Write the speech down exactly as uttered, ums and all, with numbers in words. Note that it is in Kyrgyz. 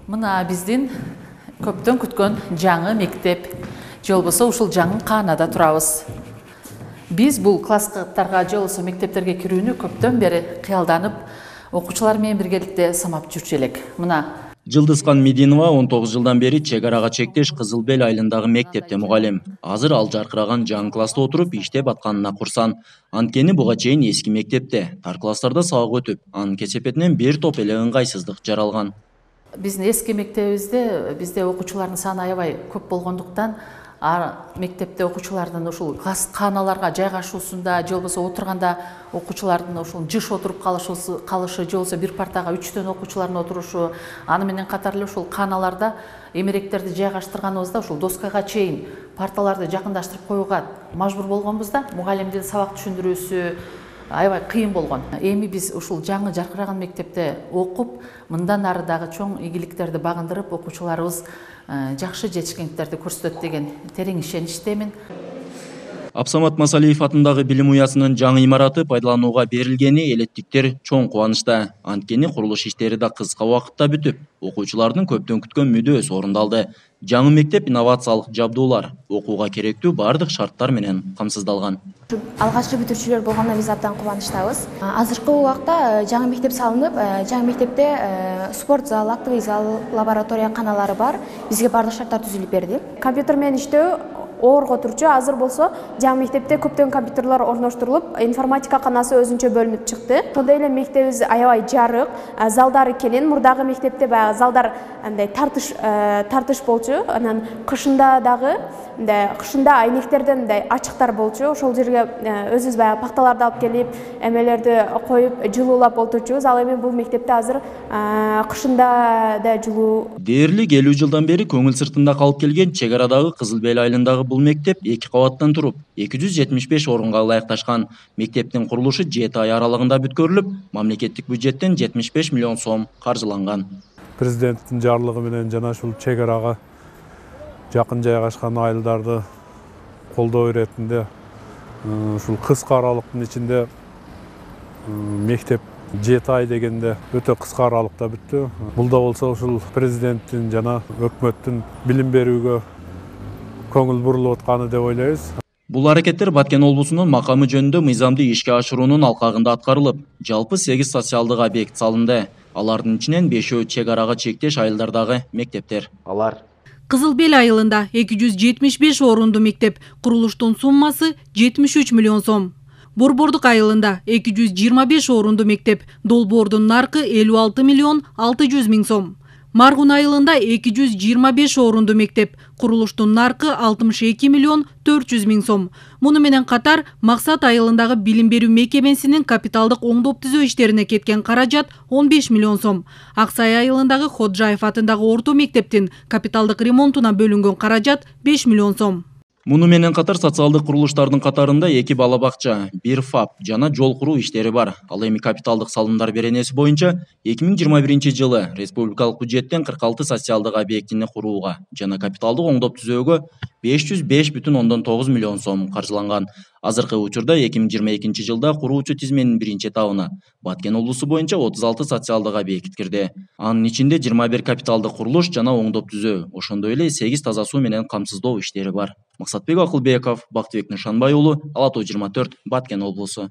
Мына биздин көптөн күткөн жаңы мектеп, же болбосо ушул жаңы каанада турабыз. Биз бул класстарга же болбосо мектептерге кирүүнү көптөн бери кыялданып, окуучулар менен биргеликте самап жүрчү элек. Мына Жылдызкан Мединова он тогуз жылдан бери чек арага чектеш Кызыл Бел айылындагы мектепте мугалим. Азыр ал жаркыраган жаңы класста отуруп иштеп атканына курсан. Анткени буга чейин эски мектепте тар класстарда сабак өтүп, анын кесепетинен бир топ эле ыңгайсыздык жаралган. Биздин эски мектебибизде бизде окуучулардын саны аябай көп болгондуктан, мектепте окуучулардын ушул класс кааналарга жайгашуусунда же болбосо отурганда окуучулардын ушул жыш отуруп калышы, калышы же болбосо бир партага үчтөн окуучулардын отурушу, аны менен катар эле ушул кааналарда эмеректерди жайгаштырганыбызда ушул доскага чейин парталарды жакындаштырып коюуга мажбур болгонбуз да, мугалимдин сабак түшүндүрүүсү аябай кыйын болгон. Эми биз ушул жаңы жаркыраган мектепте окуп, мындан ары дагы чоң ийгиликтерди багындырып, окуучуларыбыз жакшы жетишкендиктерди көрсөтөт деген терең ишеничтемин. Абсамат Масалиев атындагы билим уясынын жаңы имараты пайдаланууга берилгени элеттиктер чоң кубанычта. Анткени курулуш иштери да кыска убакытта бүтүп, окуучулардын көптөн күткөн мүдөөсү орундалды. Жаңы мектеп инновациялык жабдуулар, окууга керектүү бардык шарттар менен камсыздалган. Алгачкы бүтүрүүчүлөр болгондо биз абдан кубанычтабыз. Азыркы убакта жаңы мектеп салынып, жаңы мектепте спорт зал, актовый зал, лаборатория каналары бар. Бизге бардык шарттар түзүлүп берди. Компьютер менен иштөө оорго турчу. Азыр болсо жаңы мектепте көптөн компьютерлер орноштурулуп, информатика канасы өзүнчө бөлүнүп чыкты. Ошондой эле мектебибиз аябай жарык, залдары келин. Мурдагы мектепте баягы залдар андай тартыш тартыш болчу. Анан кышында дагы мындай кышында айнектерден мындай ачыктар болчу. Ошол жерге өзүбүз баягы пакталарды алып келип, эмелерди коюп, жылуулап отурчубуз. Ал эми бул мектепте азыр кышында да жылуу. Дээрлик элүү жылдан бери көңүл сыртында калып келген чек арадагы Кызыл Бел айылындагы бул мектеп эки кабаттан туруп, эки жүз жетимиш беш орунга ылайыкташкан. Мектептин курулушу жети ай аралыгында бүткөрүлүп, мамлекеттик бюджеттен жетимиш беш миллион сом каржыланган. Президенттин жарлыгы менен жана ушул чек арага жакын жайгашкан айылдарды колдоо иретинде ушул кыска аралыктын ичинде мектеп жети ай дегенде өтө кыска аралыкта бүттү. Бул да болсо ушул президенттин жана өкмөттүн билим берүүгө көңүл бурулуп атканы деп ойлойбуз. Бул аракеттер Баткен облусунун макамы жөнүндө мыйзамды ишке ашыруунун алкагында аткарылып, жалпы сегиз социалдык объект салынды. Алардын ичинен бешөө чек арага чектеш айылдардагы мектептер. Алар Кызыл Бел айылында эки жүз жетимиш беш орунду мектеп, курулуштун суммасы жетимиш үч миллион сом. Борбордук айылында эки жүз жыйырма беш орунду мектеп, долбоордун наркы элүү алты миллион алты жүз миң сом. Маргун айылында эки жүз жыйырма беш орунду мектеп, курулуштун наркы алтымыш эки миллион төрт жүз миң сом. Муну менен катар Максат айылындагы билим берүү мекемесинин капиталдык оңдоп түзөө иштерине кеткен каражат он беш миллион сом. Аксай айылындагы Ходжаев атындагы орто мектептин капиталдык ремонтуна бөлүнгөн каражат беш миллион сом. Муну менен катар социалдык курулуштардын катарында эки бала бакча, бир ФАП жана жол куруу иштери бар. Ал эми капиталдык салымдар беренеси боюнча эки миң жыйырма биринчи жылы республикалык бюджеттен кырк алты социалдык объектини курууга жана капиталдык оңдоп түзөөгө беш жүз беш бүтүн ондон тогуз миллион сом каржыланган. Азыркы учурда эки миң жыйырма экинчи жылда куруучу тизменин биринчи этабына Баткен облусу боюнча отуз алты социалдык объект кирди. Анын ичинде жыйырма бир капиталдык курулуш жана оңдоп түзөө, ошондой эле сегиз таза суу менен камсыздоо иштери бар. Максатбек Акылбеков, Бактыбек Нышанбай уулу, Ала тоо жыйырма төрт, Баткен облусу.